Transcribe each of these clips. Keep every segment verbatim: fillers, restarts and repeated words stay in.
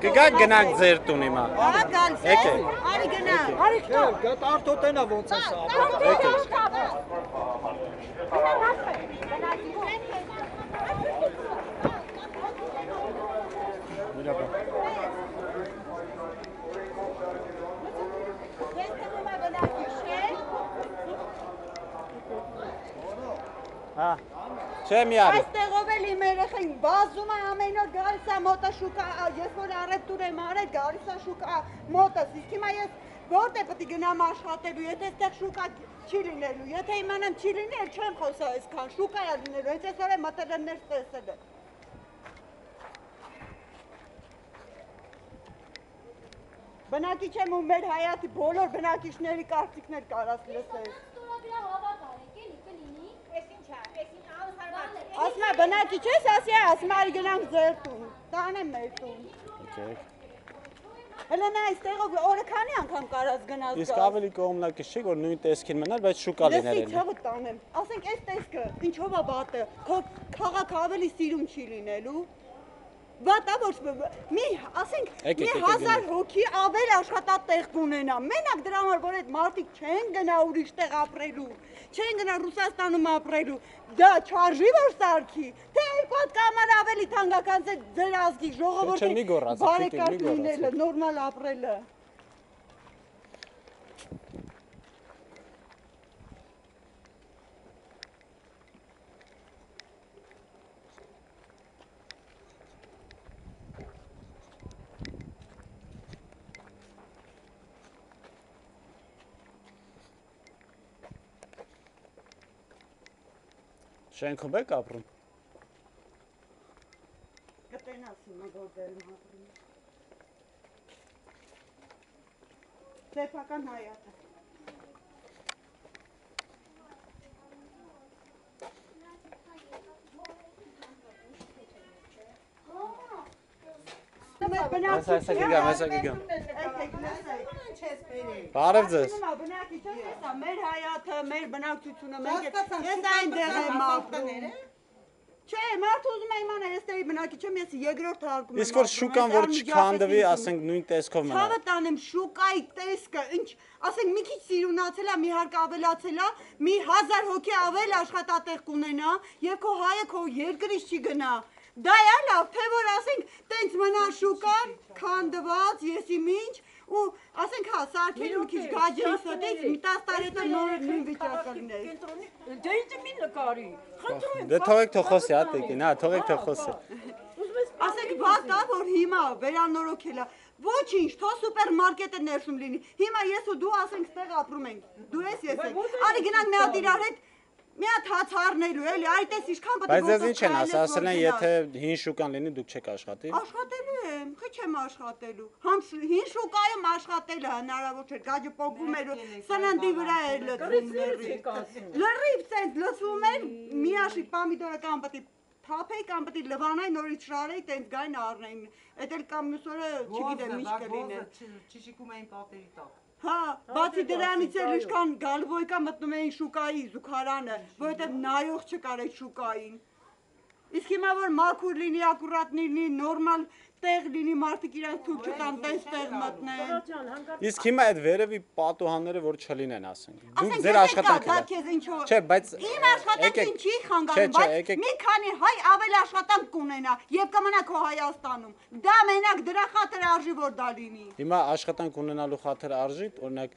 Կգա գնանք ձեր տուն հիմա։ Հա, գալիս է։ Արի գնա։ Արի քո։ Գա արդոտենա ոնց է սա։ Հա։ Չէ մի արի։ Այստեղով էլ իմ երեխեն բազում է ամեն օր գալիս է մոտը շուկա, ես որ առևտուր եմ արել, գալիս է շուկա մոտս, իսկ հիմա ես որտե պետք է գնամ աշխատելու, եթե այստեղ շուկա չի լինելու, եթե իմանամ չի լինի, էլ չեմ խոսա այսքան, շուկա է լինելու, հենց այսօր եմ մտել եմ ներս տեսել եմ։ Բնակիչ եմ ու մեր հայացի բոլոր բնակիչների կարծիքներ կարաս լսել։ Ասմա բնակիչ ես, ասի ասմա արի գնանք ձեր տուն, տանեմ մեր տուն։ Հելը նա այստեղով օրը քանի անգամ կարած գնաս գալ։ Իսկ ավելի կողմնակից չի, որ նույն տեսքին մնար, բայց շուկա լիներ էլի։ Լսի ցավը տանեմ, ասենք այս տեսքը, ինչով է բատը, քո քաղաքը ավելի սիրում չի լինելու։ Վատա ոչ մի, ասենք, մի հազար հոգի ավել աշխատատեղ կունենա, մենակ դրա համար, որ այդ մարդիկ չեն գնա ուրիշ տեղ ապրելու, չեն գնա Ռուսաստանում ապրելու, դա չարժի որ սարքի, թե երկու հատ կամար ավելի թանկական ձեր ազգի ժողովրդի բարեկարգ լինելը, նորմալ ապրելը։ Շենքում եք ապրում։ Կտենաս հիմա որ դեր եմ ապրում։ Սեփական հայատը։ Այսա գգամ, այսա գգամ։ Բարև ձեզ։ Մեր հայաթը, մեր բնակչությունը, ես այնտեղ եմ ապրում։ Չէ, մարդ ուզում է իմանալ, ես տերի բնակիչ եմ, ես երկրորդ հարկում եմ։ Իսկ որ շուկան որ չքանդվի, ասենք նույն տեսքով մնա։ Ցավը տանեմ շուկայի տեսքը, ինչ, ասենք մի քիչ սիրունացել է, մի հարկ ավելացել է, մի հազար հոգի ավել աշխատատեղ կունենա, եւ քո հայը քո երկրից չի գնա։ Դա է լավ, թե որ ասենք տենց մնա շուկան, քանդված, եսի ինչ, ու ասենք հա, սարքել մի քիչ գաջերի ստից, մի տասը տարի հետո նոր նույն վիճակը լիներ։ Դե ինձ մի նկարի, խնդրում եմ։ Դե թողեք թող խոսի, հա տեկին, հա, թողեք թող խոսի։ Ասենք վատա, որ հիմա վերանորոգել է, ոչինչ, թող սուպերմարկետը ներսում լինի, հիմա ես ու դու ասենք ստեղ ապրում ենք, դու ես ես ենք, արի գնանք մի հատ իրար հետ, մի հատ հաց առնելու էլի, այ տես ինչքան պետք է Բայց ձեզ ինչ են ասել, ասել են եթե հին շուկան լինի դուք չեք աշխատի։ Աշխատելու եմ, խի չեմ աշխատելու։ Համ հին շուկայում աշխատելը հնարավոր չէ, գաջը պոկվում էր, սննդի վրա էր լցվում լրիվ։ Լրիվ ցենց լցվում էր, միաշիկ պամիդորը կամ պետք է թափեի կամ պետք է լվանայի նորից շարեի, տենց գային առնեին։ Էդ էլ կամ մյուս օրը չգիտեմ ինչ կլիներ։ Չշիկում էին պատերի տակ։ Հա, բացի դրանից էլ ինչքան գալվոյկա մտնում էին շուկայի զուգարանը, որովհետև նայող չկար այդ շուկային։ Իսկ հիմա որ մաքուր լինի, ակուրատ լինի, նորմալ տեղ լինի, մարդիկ իրանք թույլ չտան տես տեղ մտնեն։ Իսկ հիմա այդ վերևի պատուհանները որ չլինեն, ասենք։ Դուք Ասենք ձեր աշխատանքը։ Չէ, բայց իմ աշխատանքին չի խանգարում, բայց մի քանի հայ ավել աշխատանք կունենա եւ կմնա քո Հայաստանում։ Դա մենակ դրա խաթր արժի որ դա լինի։ Հիմա աշխատանք ունենալու խաթր արժի, օրինակ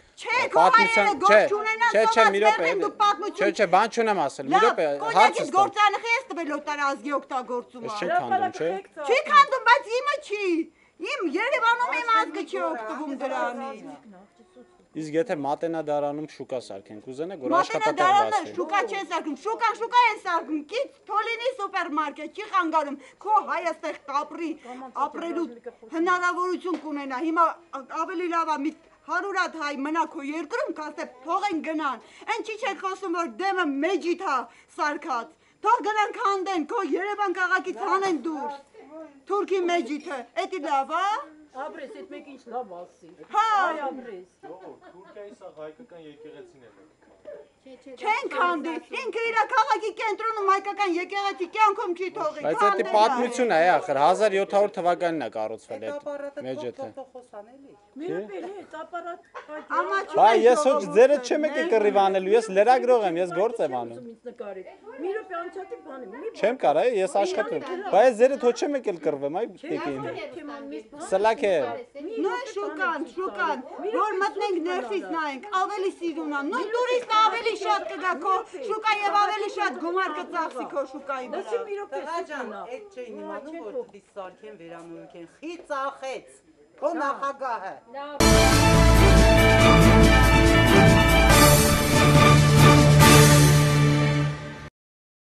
պատմության, չէ, չէ, չէ, մի րոպե։ Չէ, չէ, բան չունեմ ասել, մի րոպե, հարցը ստա։ Գործանախի ես տվել օտարազգի օգտագործումը։ Չի քանդում, չէ։ Չի քանդում, բայց իմը չի։ Իմ Երևանում իմ ազգը չի օգտվում դրանից։ Իսկ եթե մատենադարանում շուկա սարքենք, կուզենեք որ աշխատատեղ բացվի։ Շուկա չեն սարքում, շուկան շուկա են սարքում, կից թոլինի սուպերմարկետ չի խանգարում։ Քո հայը ստեղ կապրի, ապրելու հնարավորություն կունենա։ Հիմա ավելի լավ է մի հարյուր հատ հայ մնա քո երկրում, կասե թողեն գնան։ Այն չի չեք խոսում որ դեմը մեջիթ է սարքած։ Թող գնան քանդեն, քո Երևան քաղաքից հանեն դուրս։ Թուրքի մեջիթը, էդի լավ է։ Ապրես, այդ մեկ ինչ լավ ասի։ Հա։ Այ ապրես։ Թուրքիայի սա հայկական եկեղեցին է։ Չեն քանդի։ Ինքը իր քաղաքի կենտրոնում հայկական եկեղեցի կյանքում չի թողի։ Բայց դա պատմություն է, ախր հազար յոթ հարյուր թվականին է կառուցվել այդ մեջեթը։ Միրոպելի է, ապարատ։ Բայ ես ոչ ձերը չեմ եկել կռիվ անելու, ես լրագրող եմ, ես գործ եմ անում։ Միրոպի անցատի բան եմ։ Չեմ կարա, ես աշխատում։ Բայց ձերը թո չեմ եկել կռվեմ, այ տիկին։ Սլակ է։ Նույն շուկան, շուկան, որ մտնենք ներսից նայենք, ավելի սիրուն է։ Նույն տուրիստը ավելի շատ կգա քո շուկա եւ ավելի շատ գումար կծախսի քո շուկայի վրա։ Լսի Միրոպի Տղաջան, այդ չէին իմանում, որ դի սարքեն վերանորոգեն։ Խի ծախեց, քո նախագահը։